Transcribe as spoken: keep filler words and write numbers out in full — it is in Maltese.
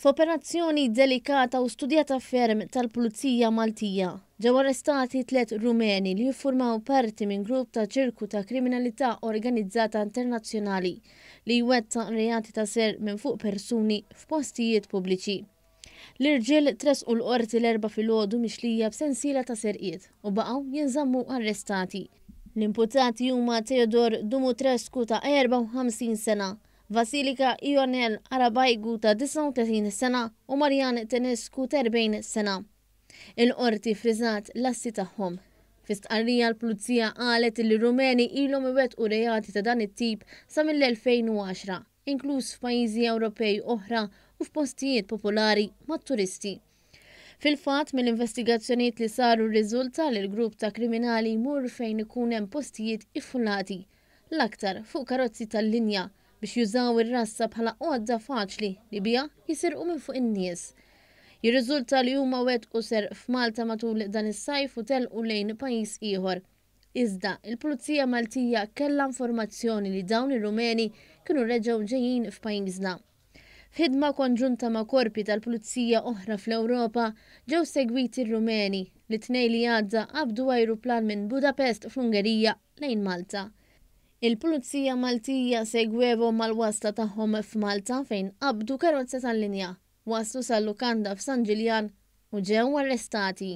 F'operazzjoni delikata u studjata ferm tal-Pulizija Maltija, ġew arrestati tliet Rumeni li jiffurmaw parti minn grupp ta' ċirku ta' kriminalità organizzata internazzjonali li jwettaq reati ta' serq minn fuq persuni f'postijiet pubbliċi. L-irġiel tressqu l-qorti l-Erbgħa filgħodu mixlija b'sensiela ta' serqiet u baqgħu jinżammu arrestati. L-imputati huma Theodor Dumutrescu ta' erbgħa u ħamsin sena, Vasilika Ionel Arabaigu ta' disgħa u tletin sena u Marian Tenescu ta' erbgħin sena. Il-qorti friżat l-assi tagħhom. Fi stqarrija l-Pulizija qalet li Rumeni ilhom iwettqu reati ta' dan it-tip sa mill-elfejn u għaxra, inkluż f'pajjiżi Ewropej oħra u f'postijiet popolari mat-turisti. Fil-fatt, mill-investigazzjonijiet li saru rriżulta li l-grupp ta' kriminali jmur fejn ikun hemm postijiet iffullati, l-aktar fuq karozzi tal-linja, biex jużaw ir-rassa bħala għodda faċli li biha jisirqu minn fuq in-nies. Jirriżulta li huma wettqu serq f'Malta matul dan is-sajf u telqu lejn pajjiż ieħor. Iżda il-Pulizija Maltija kellha informazzjoni li dawn ir-Rumeni kienu reġgħu ġejjin f'pajjiżna. F'ħidma konġunta ma' korpi tal-Pulizija oħra fl-Ewropa ġew segwiti r-Rumeni li t-Tnejn li għadda qabdu ajruplan minn Budapest fl-Ungerija lejn Malta. Il-Pulizija Maltija segwewhom mal-wasla tagħhom f'Malta fejn qabdu karozza tal-linja, waslu sal-lukanda f'San Ġiljan u ġew arrestati.